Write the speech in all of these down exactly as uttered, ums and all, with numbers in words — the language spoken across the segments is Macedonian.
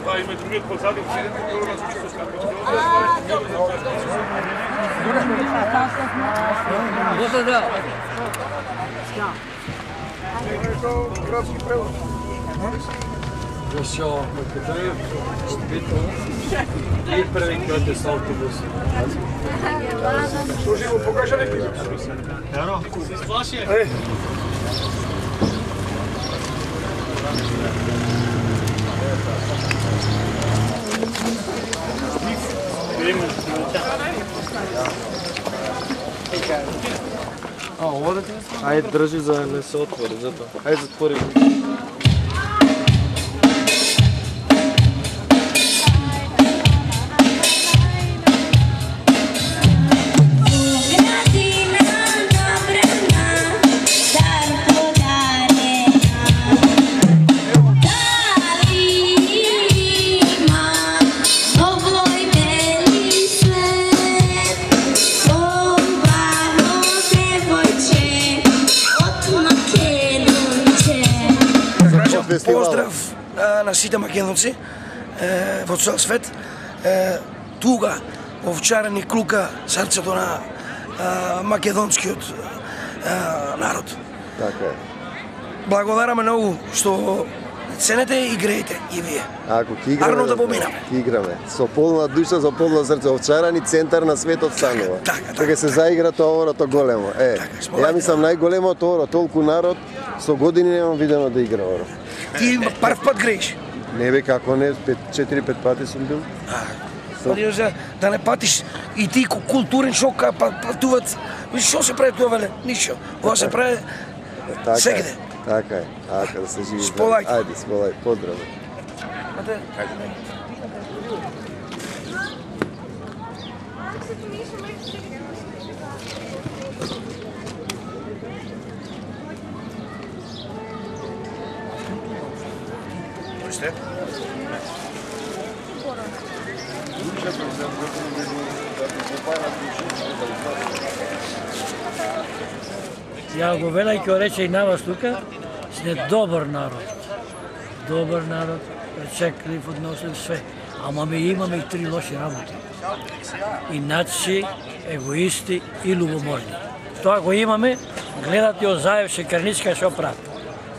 Това има другиот позади. Добре, да. Градски превоз. Дошao Македонија, Штипито и први кјоте са автобуси. Што живо покажа некој? Еро. Се сплаши. Е. А, одете? Ајде, држи за да не се отвори, затоа. Ајде, затвори. Поздрав а, на сите македонци е, во цел свет. Е, туга овчарени клука срцето на а, македонскиот а, народ. Така е. Благодараме многу што ценете и играете и вие. Ако ќе играме, Арно да поминаме. Ќе играме. Со полна душа, со полно срце. Овчарани центар на светот станува. Така, така. Кога се заигра тоа орото големо. Е, Така, ја мислам најголемото оро, толку народ, со години немам видено да игра оро. Ти прв пат грееш. Не бе, како не, четири-пет пати сум бил. Па за да не патиш и ти културен шок, па патуват. Што се прави тоа веле? Ништо. Кога се прави Така сегде. е. Така е. Ака да се живи. Сполајте. Ајде, сполај. Поздрави. Сте? Ја го велај ќе рече и на вас тука, сте добар народ. Добар народ, пречеклив, односен све. Ама ми имаме и три лоши работи. Иначи, егоисти и любоможни. Тоа го имаме, гледате од Заев Шекерничка што прават.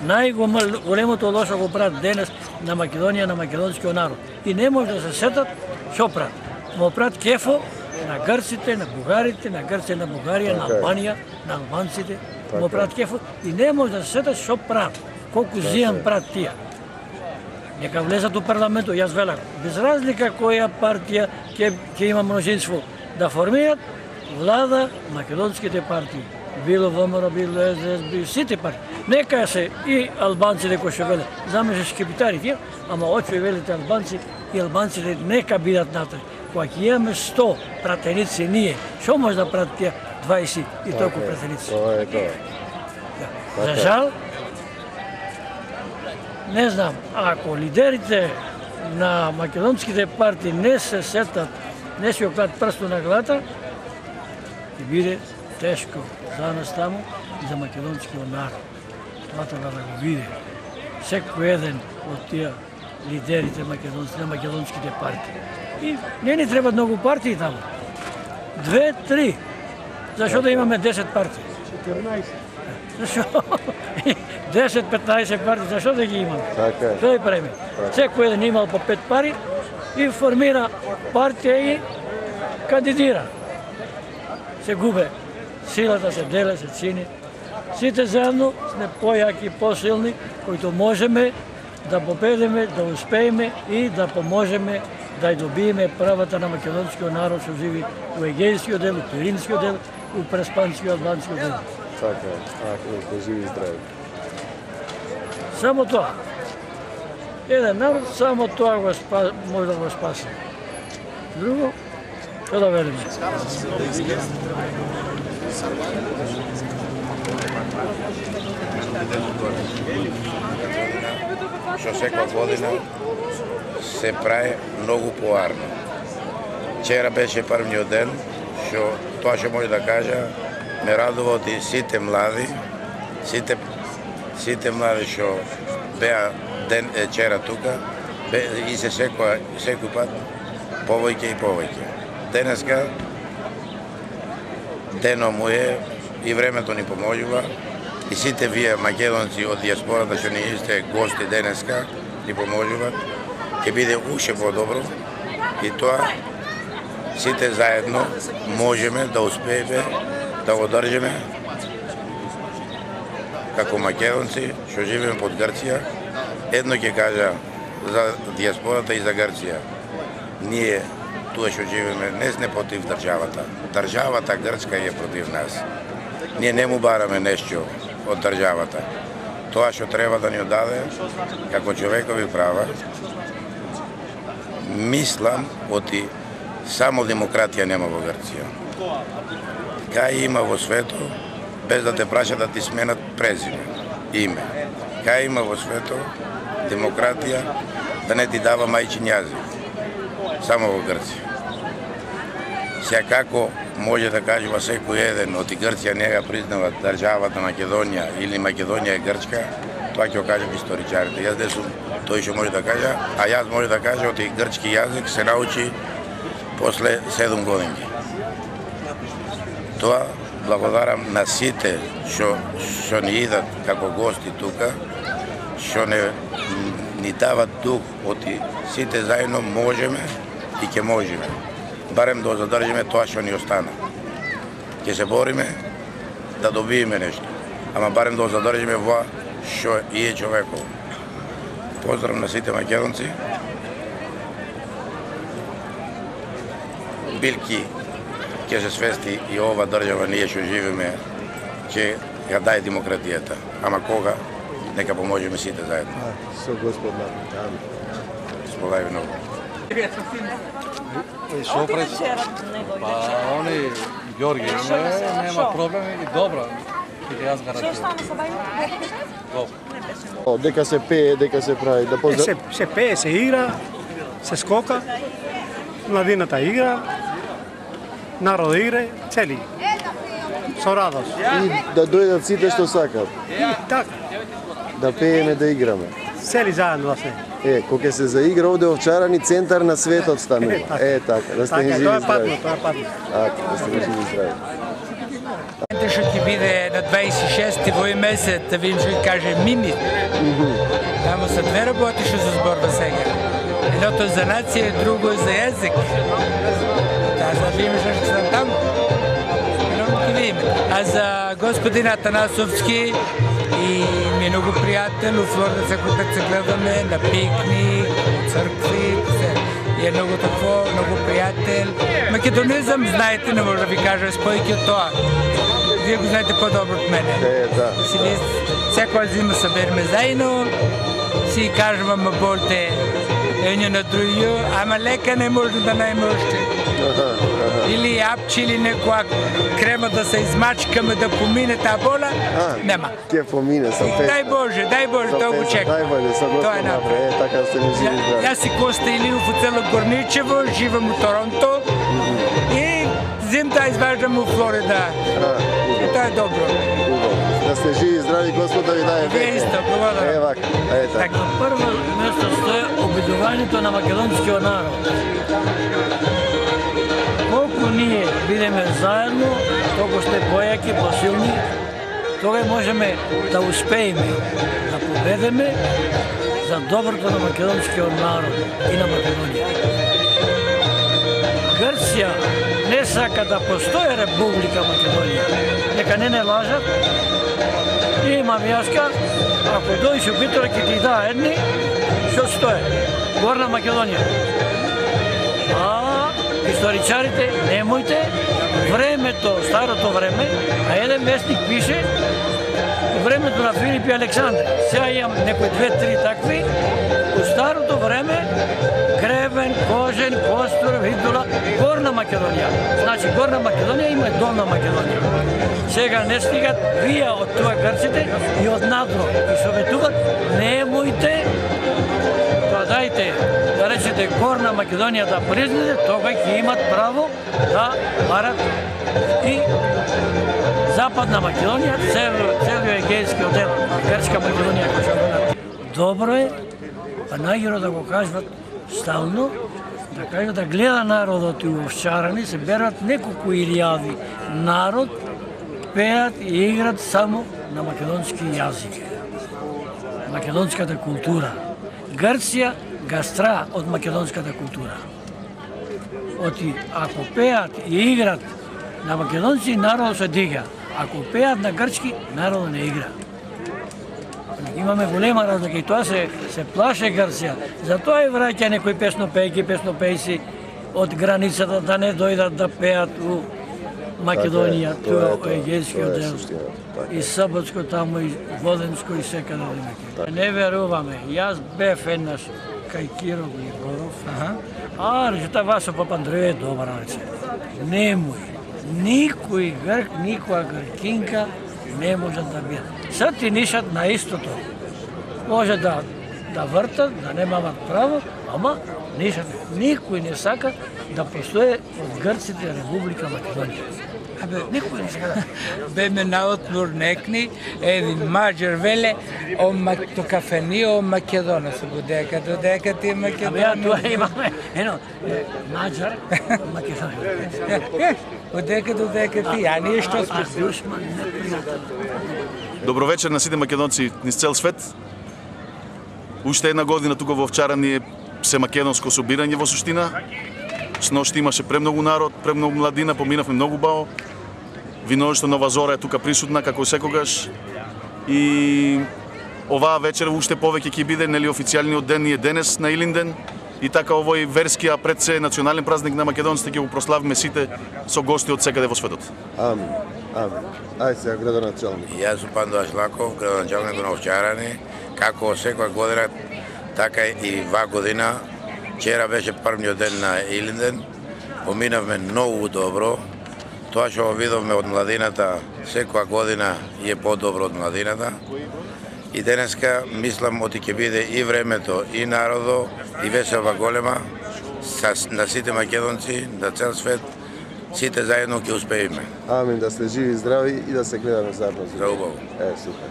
Најголемото лошо го прават денес на Македонија, на македонскиот народ. И не може да се сетат што прават. Му прават кефо на грците, на бугарите, на Грција, на Бугарија, на Албанија, на албанците. Му прават кефо и не може да се сетат што прават. Колку зијан прават тие. Нека влезат у парламентот, јас велам, без разлика која партија ќе ќе има мнозинство да формираат влада македонските партии. Било ВМРО, било Ес Де Ес, било сите партии. Нека се и албанците кои што велат, замешаш капитари тие, ама очу и велите албанци и албанците нека бидат натаму. Кога ќе имаме сто пратеници ние, што може да пратат тие дваесет и толку пратеници? Тоа е тоа. За жал, не знам, ако лидерите на македонските партии не се сетат, не се окладат прсто на главата, ќе биде тешко за нас таму и за македонскиот народ. Тоа треба да го види. Секој еден од тие лидерите македонски, на македонските партии. И не ни треба многу партии таму. Две, три. Зашо да имаме десет партии? четирнаесет. Зашо? десет петнаесет партии, зашо да ги имаме? Така е. Што да правиме? Секој еден имал по пет пари и формира партија и кандидира. Се губе. Силата се деле, се цини. Сите заедно сме појаки, посилни, кои можеме да победиме, да успееме и да поможеме да ја добиеме правата на македонскиот народ што живи у Егејскиот дел, у Пиринскиот дел, у Преспанскиот, Албанскиот дел. Така е. Ако не живи и здрави. Само тоа. Еден народ, само тоа го спа, може да го спаси. Друго, што да велиме? Што секоја година се прави многу поарно. Вчера беше првниот ден, што тоа што може да кажа, ме радува од и сите млади, сите сите млади што беа ден вчера тука, и се секој, секој пат повеќе и повеќе. Денеска дено му е и времето ни поможува и сите вие македонци од диаспората што ни сте гости денеска ни поможуваат, ќе биде уште подобро и тоа сите заедно можеме да успееме да го држиме како македонци што живееме под Грција. Едно ќе кажа за диаспората и за Грција. Ние туа што живееме не сме против државата. Државата грчка е против нас. Ние не му бараме нешто од државата. Тоа што треба да ни одаде како човекови права, мислам оти само демократија нема во Грција. Кај има во светот, без да те прашат да ти сменат презиме, име. Кај има во светот демократија да не ти дава мајчин јазик. Само во Грција. Секако може да кажува секој еден оти Грција не ga признава државата Македонија или Македонија е Грчка, тоа ќе го кажат историчарите. Јас не сум тој што може да кажа, а јас може да кажа оти грчки јазик се научи после седум годинки. Тоа благодарам на сите што што ни идат како гости тука, што не ни дават дух оти сите заедно можеме и ќе можеме. Барем да задржиме тоа што ни остана. Ќе се бориме да добиеме нешто, ама барем да задржиме во што е човеков. Поздрав на сите македонци. Билки ќе се свести и ова држава ние што живееме ќе ја даде демократијата. Ама кога? Нека поможеме сите заедно. Со Господ на. Сполави многу. Што пред? Па, они Ѓорги, нема проблем и добро. И јас гарантирам. Добро. Дека се пее, дека се прави, да поздрав... Се, се пее, се игра, се скока, младината игра, народ игра, цели. Со радост. И да дојдат сите што сакат. И така, Да пееме, да играме. цели заедно да се. Е, кога се заигра овде овчарани, центар на светот станува. Е, така, да сте Така, ни живи тоа е здрави. патно, тоа е патно. Така, да сте ни живи здрави. Што ќе биде на дваесет и шести во месец, да видим што ќе каже Мими. Тамо се две работи што се зборува сега. Едното за нација, друго за јазик. Таа да видим што ќе стане таму. Едното ќе видим. А за господин Атанасовски и ми е многу пријател, условно секој пат се гледаме на пикник, цркви, се. И е многу такво, многу пријател. Македонизам, знаете, не може да ви кажа спојки од тоа. Вие го знаете по-добро од мене. Е, да. Си вие секоја зима събереме заедно, си кажуваме болте едно на друго, ама лека не може да најме уште. Или апче, или некоја крема да се измачкаме да помине таа бола, нема. Ке помине сам песна. Дај Боже, дај Боже, тоа го чекам. Дај Боже, со Господ Тоа е напред. Е, така сте ми живи здрави. Јас си Коста Илиев од село Горничево, живам у Торонто и зимта изваждам у Флорида. И тоа е добро. Да сте живи здрави, Господ да ви даде Вие веќе. исто, благодарам. Е, вака. Е, така. На прво место стои обидувањето на македонскиот народ. Колку ние бидеме заедно, толку сте појаки, посилни, тога можеме да успееме, да победиме за доброто на македонскиот народ и на Македонија. Грција не сака да постои Република Македонија. Нека не не лажат. Имам јаска, ако дојдеш у Битола ќе ти даа едни, што стоje? Горна Македонија. А историчарите, немојте, времето, старото време, а еден вестник пише времето на Филип и Александр. Сега имам некои две-три такви. У старото време Кревен, Кожен, Костур, Видула, Горна Македонија. Значи Горна Македонија има и Долна Македонија. Сега не стигат вие од тоа грците и од надро и советуват немојте да дајте да речете Горна Македонија да признате, тога ќе имат право да барат и Западна Македонија, целиот егејски одел, Грчка Македонија кој што го. Добро е па најгоре да го кажат стално, да кажат да гледа народот и овчарани, се берат неколку илјади народ, пеат и играт само на македонски јазик. Македонската култура. Грција гастра од македонската култура. Оти, ако пеат и играт на македонци, народот се дига. Ако пеат на грчки, народот не игра. Имаме голема разлика и тоа се, се плаше Грција. Затоа и враќа некои песнопејки, песнопејци од границата да не дојдат да пеат у Македонија, тоа е Егејскиот дел. И Саботско таму, и Воденско, и секаде да не веруваме. Јас бев еднаш кај Киро Глигоров, а речета Васо Папандреј е добар, рече. Немој, никој грк, никоја гркинка не може да биде. Сад ти нишат на истото. Може да да вртат, да немаат право, ама нишат. Никој не сака да постои од грците Република Македонија. Абе, никој не сака да. Беме наотмор некни, еден маđар веле, о то кафени о Македона се додека, додека ти Македонија. Абе, ја тоа имаме, ено, маđар, Македонија. Одека додека ти, а ние што сме? Добро вечер на сите македонци низ цел свет. Уште една година тука во Овчарани е се македонско собирање во суштина. Сношти имаше премногу народ, премногу младина, поминавме многу бао. Виноштво Нова Зора е тука присутна како секогаш. И оваа вечер уште повеќе ќе биде, нели, официјалниот ден и е денес на Илинден. И така овој верски, а пред се национален празник на македонците ќе го прославиме сите со гости од секаде во светот. Амин. Амин. Ајде сега градоначалник. Јас сум Пандо Ашлаков, градоначалник на Овчарани. Како секоја година, така и ва година. Вчера беше првниот ден на Илинден. Поминавме многу добро. Тоа што видовме од младината секоја година е подобро од младината. И денеска мислам оти ќе биде и времето, и народо, и веселба голема на сите македонци, на цел свет, сите заедно ќе успееме. Амин, да сте живи и здрави и да се гледаме заедно. За убаво. Е, супер.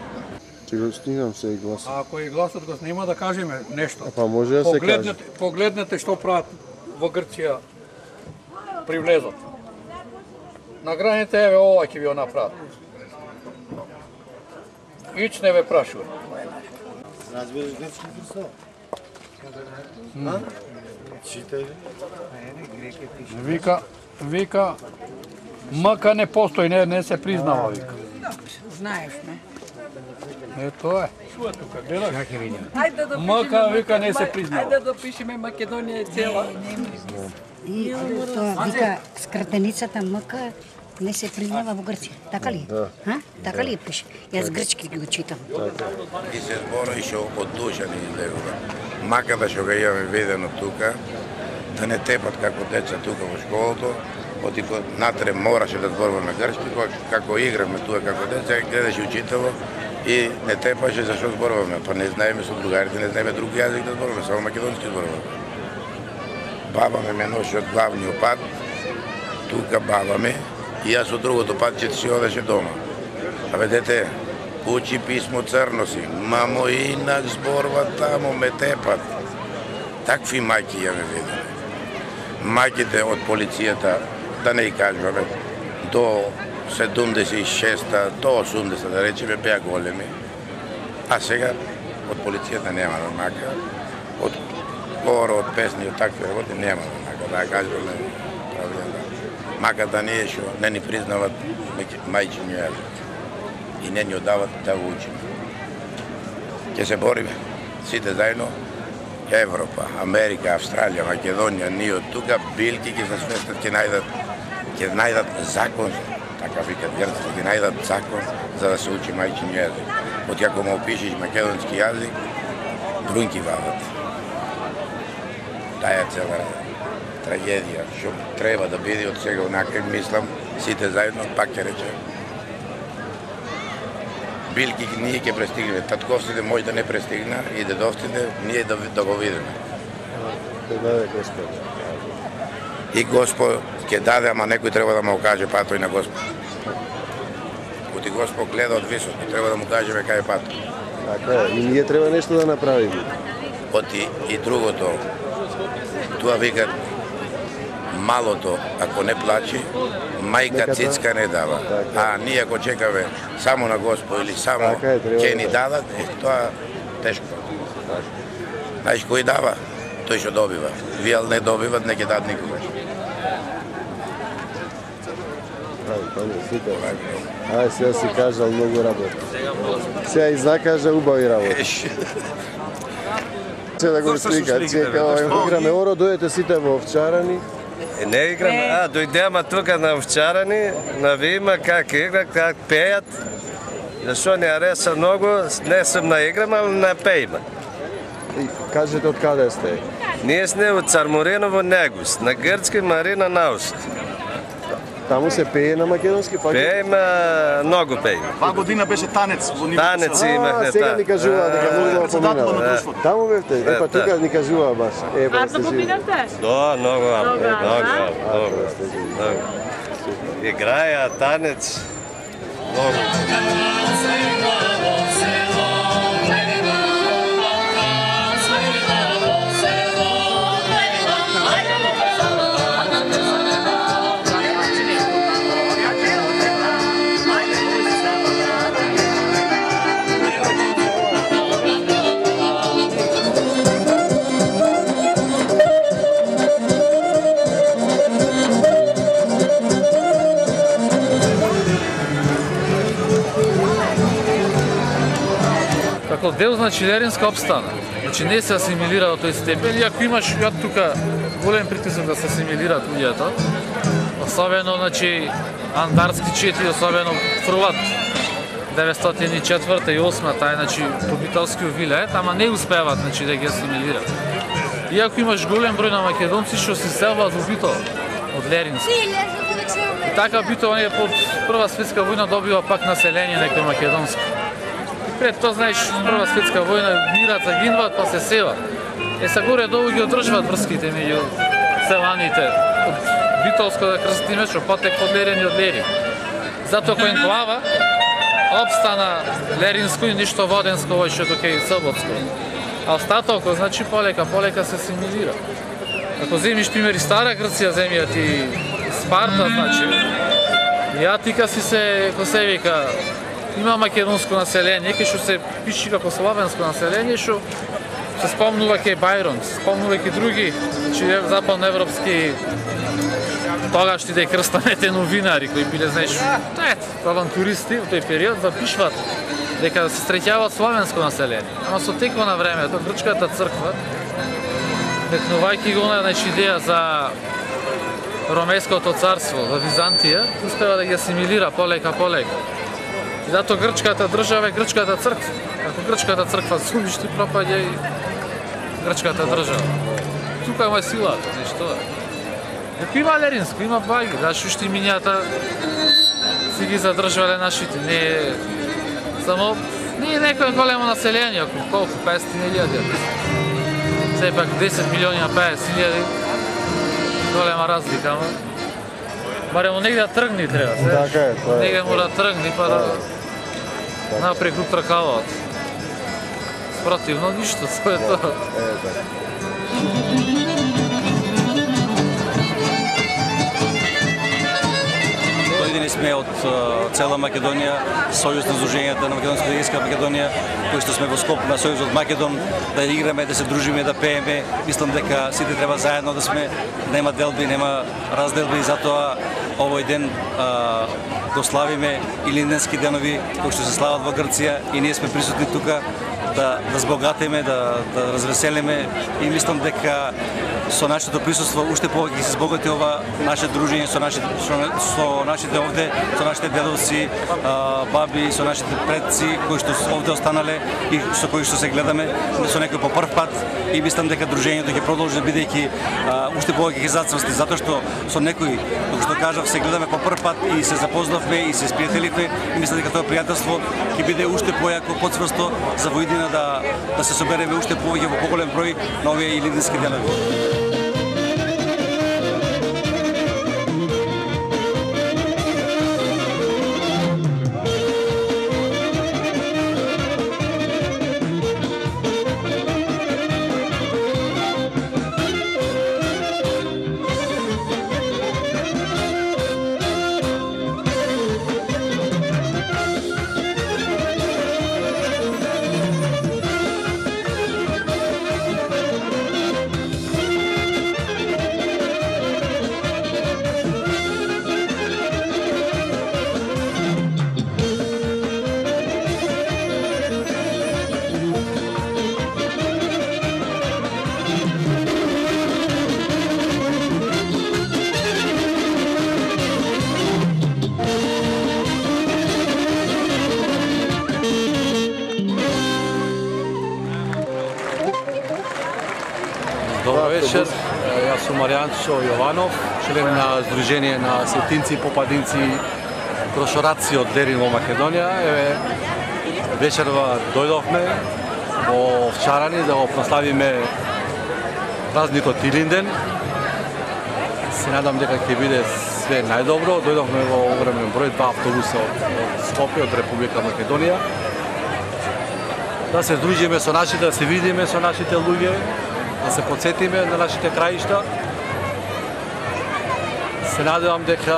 Че го снимам се и гласот. Ако и гласот го снима, да кажеме нешто. Па може да се каже. Погледнете што прават во Грција при влезот. На граните, еве, ова ќе ви го направат. Ич не ве прашува. Разбираш грчки Христо? Читай. Вика, вика, МК не постои, не, не се признава, вика. Знаеш ме. Е, тоа е. Тука, гледаш? Ајде да МК, вика, не се признава. Ајде да пишеме Македонија е цела. И тоа вика скратеницата МК не се признава во Грција, така ли? Да. А? Така ли пише? Јас грчки ги го читам. И се збора и што од душа ни излегува. Макар да што го имаме видено тука, да не тепат како деца тука во школото, оти натре мораше да зборуваме грчки, како игравме тука како деца, гледаше учитело и не тепаше зашто зборуваме, па не знаеме со другарите, не знаеме друг јазик да зборуваме, само македонски зборуваме. Баба ме ме носи од главниот пат, тука баба ме, и јас од другото патче си одеше дома. Абе, дете, учи писмо црно си, мамо инак зборува тамо, ме тепат. Такви мајки ја ме виделе. Мајките од полицијата, да не ја кажуваме, до седумдесет и шеста, до осумдесет, да речеме, беа големи. А сега од полицијата нема да мака. Од хора, од песни, од такви работи нема да мака, да ја кажуваме правилно. Макар да не е што не ни признават мајчињу јазик и не ни одават да го учиме. Ќе се бориме сите заедно, Европа, Америка, Австралија, Македонија, ние од тука билки ќе се свестат, ќе најдат, ќе најдат закон, така викат грците, ќе најдат закон за да се учи мајчињу јазик. Од ако му опишеш македонски јазик, брунки вадат. Таа е цела трагедија, што треба да биде од сега онака, мислам, сите заедно, пак ќе рече. Билки ние ќе престигнеме, татковците може да не престигна и дедовците ние да, да го видиме. Ќе даде Господ. И Господ ќе даде, ама некој треба да му каже патој на Господ. Коти Господ гледа од високо, треба да му кажеме кај е патој. Така е, и ние треба нешто да направиме. Оти и другото, тоа викат малото, ако не плачи, мајка цицка не дава. А ние ако чекаме само на Господ или само ќе ни дадат, е, тоа тешко. Знаеш кој дава? Тој што добива. Вие не добиват, не ќе дадат никогаш. Ај, сега си кажал многу работа. Сега и закажа убави работа. Се да го слика, чека, играме оро, дојдете сите во овчарани. Не играме, а дојдеме тука на овчарани, на видиме как игра, как пејат. Зашо не ареса многу, не сум на играма, ама на пејме. Кажете од каде сте? Ние сме од Цармориново Негус, на грчки Марина Наust. Таму се пее на македонски пак? Пееме, многу пееме. Таа година беше танец во нивото. Танец имахме, а, сега ни кажува дека многу поминава. Таму бевте, е па тука ни кажува баш. Е, ба сте живи. Да, многу, многу, многу. Играја танец, многу. Како дел, значи, Леринска обстана. Значи, не се асимилира во тој степен, иако имаш ја тука голем притисок да се асимилираат луѓето. Особено, значи, Андарски четири, особено фрлат деветстотини и четврта и осма, тај, значи, побиталски увилеет, ама не успеваат, значи, да ги асимилираат. Иако имаш голем број на македонци што се селваат во Битола, од Леринска. И така Битола не под Прва светска војна добива пак население некој македонско. Пред тоа, знаеш, Прва светска војна мират, загинваат, па се севат. Е, са горе долу ги одржуваат врските меѓу селаните. Од Битолско да крстиме, што потек од Лерин и од Лерин. Затоа кој енклава обстана Леринско и ништо Воденско, овој што тука и Соботско. А остатокот, значи, полека, полека се асимилира. Ако земиш примери Стара Грција, земјат и Спарта, значи, ја тика си се, ко се вика, има македонско население, кај што се пиши како славенско население, што се спомнува ке Бајрон, се спомнува ке други, значи западноевропски тогашни да и крстанете новинари кои биле, знаеш, авантуристи во тој период, запишват дека се среќаваат славенско население. Ама со текот на времето, Грчката црква, векнувајќи го на идеја за Ромејското царство, за Византија, успева да ги асимилира полека, полека. И зато грчката држава е грчката црква. Ако грчката црква се уништи, пропаѓа и грчката држава. Тука е силата, нешто е. Дека има Леринско, има баги, значи уште имињата си ги задржале нашите. Не е само не е некој големо население, ако колку песетстотини илјади. Сепак десет милиони на песет илјади. Голема разлика, ама баремо негде да тргни треба, знаеш. Така е, тоа е. Негде мора да тргни па да напреку тркаваат. Спротивно ништо, тоа е тоа. Е, така. Дојдени сме од цела Македонија, Сојуз на Сдруженијата на Македонска и Егејска Македонија, кои што сме во скоп на Сојузот Македон, да играме, да се дружиме, да пееме. Мислам дека сите треба заедно да сме, нема делби, нема разделби, затоа овој ден а, го славиме Илинденски денови кои што се слават во Грција и ние сме присутни тука да да збогатиме, да да развеселиме и мислам дека со нашето присуство уште повеќе се збогати ова наше дружење со нашите со, со нашите овде, со нашите дедовци, а, баби, со нашите предци кои што овде останале и со кои што се гледаме со некој по прв пат и мислам дека дружењето ќе продолжи бидејќи уште повеќе ќе зацврсти затоа што со некој, како што кажав, се гледаме по прв пат и се запознавме и се спријателивме и мислам дека тоа пријателство ќе биде уште појако, поцврсто за во иднина да да се собереме уште повеќе во поголем број на овие Илинденски денови. вечер. Јас сум Маријанчо Јованов, член на Сдружение на сетинци и попадинци прошораци од Дерин во Македонија. Еве, вечерва дојдовме во Овчарани да го прославиме празникот Илинден. Се надам дека ќе биде све најдобро. Дојдовме во огромен број, два автобуса од Скопје, од Република Македонија. Да се дружиме со нашите, да се видиме со нашите луѓе, да се подсетиме на нашите краишта. Се надевам дека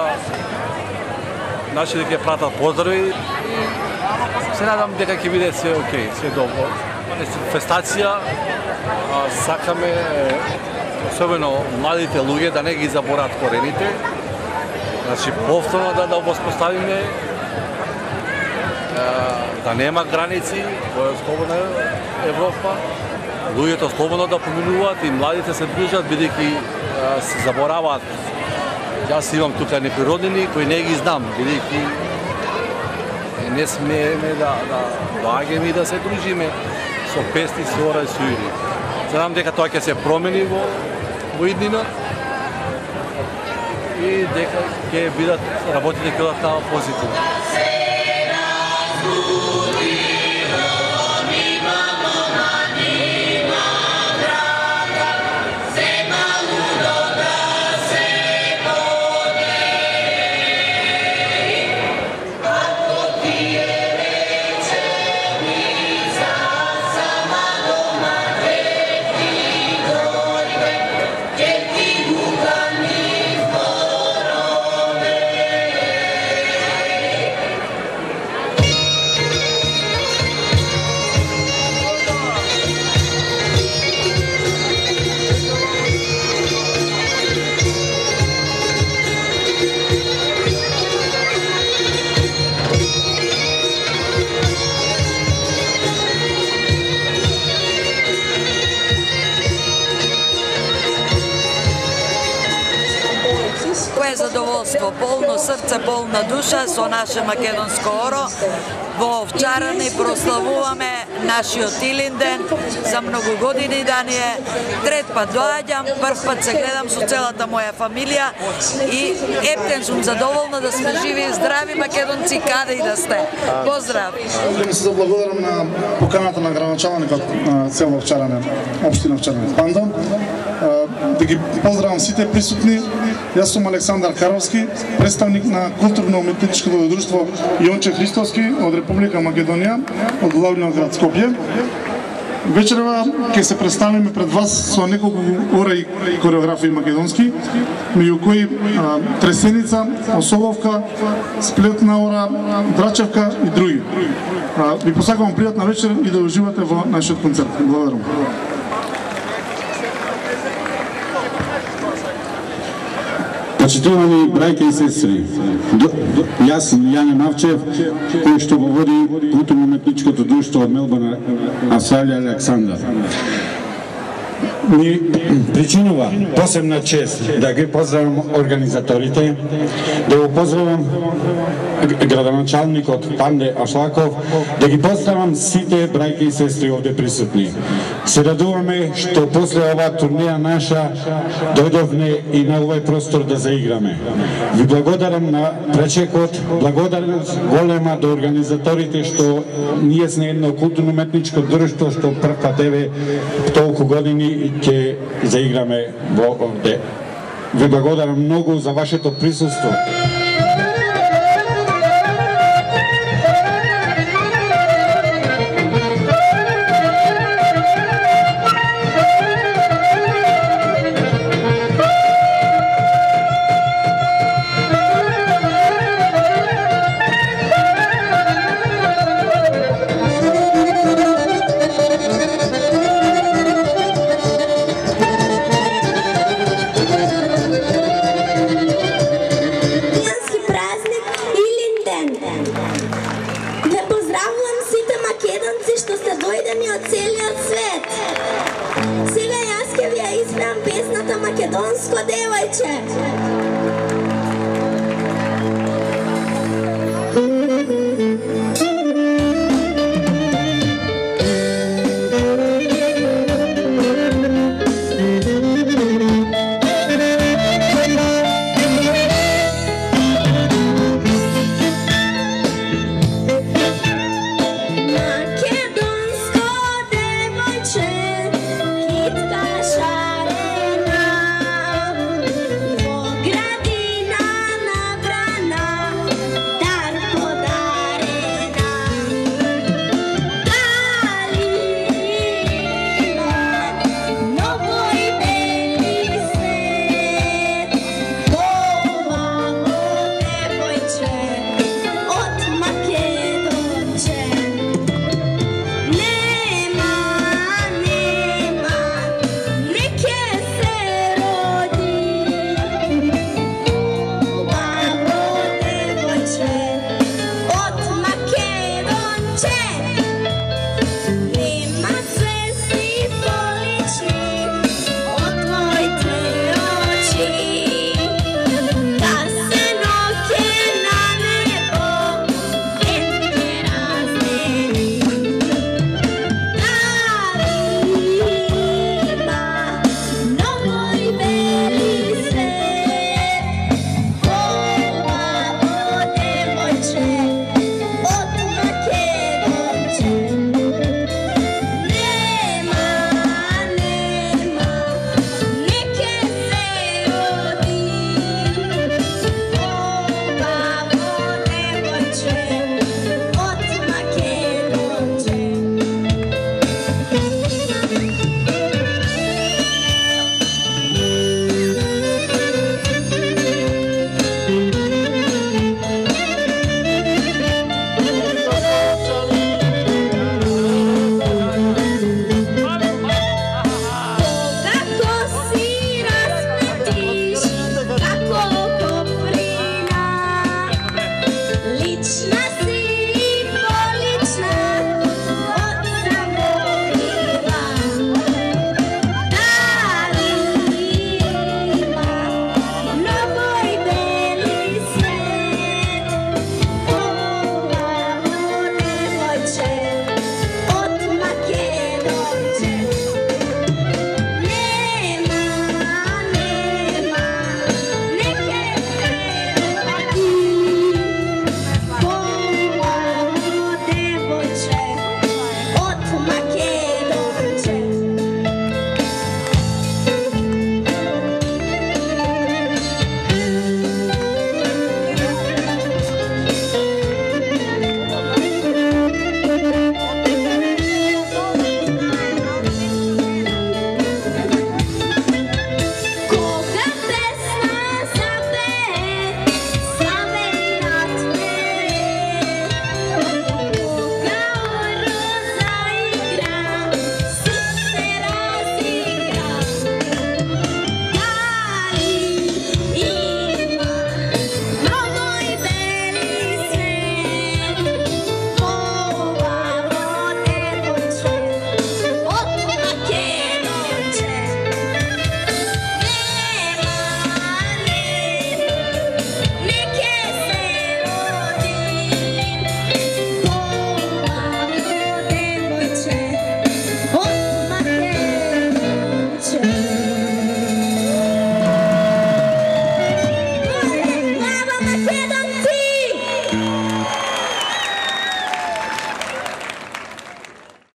нашите ќе пратат поздрави. Се надам дека ќе биде све окей, све добро. Фестација, сакаме особено младите луѓе да не ги заборат корените. Значи повторно да да воспоставиме да нема граници во слободна Европа, луѓето слободно да поминуваат и младите се движат бидејќи се забораваат. Јас имам тука некои роднини кои не ги знам, бидејќи не смееме да да доаѓаме и да се дружиме со песни, со ора и со игри. Знам дека тоа ќе се промени во во иднина и дека ќе бидат работите ќе бидат на позитивно. Задоволство, полно срце, полна душа со наше македонско оро. Во Овчарани прославуваме нашиот Илинден за многу години да ни е. Трет пат доаѓам, прв пат се гледам со целата моја фамилија и ептен сум задоволна да сме живи и здрави македонци каде и да сте. Поздрав! Искам се заблагодарам на поканата на градоначалникот на село Овчаране, општина Овчаране Панда. Да ги поздравам сите присутни. Јас сум Александар Каровски, представник на културно-уметничкото друштво Јонче Христовски од Република Македонија, од главниот град Скопје. Вечерва ќе се представиме пред вас со неколку ора и кореографии македонски, меѓу кои а, Тресеница, Осоловка, Сплетна ора, Драчевка и други. А, ви посакувам пријатна вечер и да уживате во нашиот концерт. Благодарам. Почитувани брајки и сестри, јас сум Јане Мавчев, кој што го води културно-уметничкото друштво од Мелбурн, Австралија, Александар. Ми причинува посебна чест да ги поздравам организаторите, да го поздравам градоначалникот Панде Ашлаков, да ги поздравам сите брајки и сестри овде присутни. Се радуваме што после оваа турнеја наша дојдовме и на овој простор да заиграме. Ви благодарам на пречекот, благодарам голема до организаторите што ние сме едно културно-уметничко друштво што прв пат еве толку години ќе заиграме во овде. Ви благодарам многу за вашето присуство. Сега јас ќе ви ја испеам песната Македонско девојче.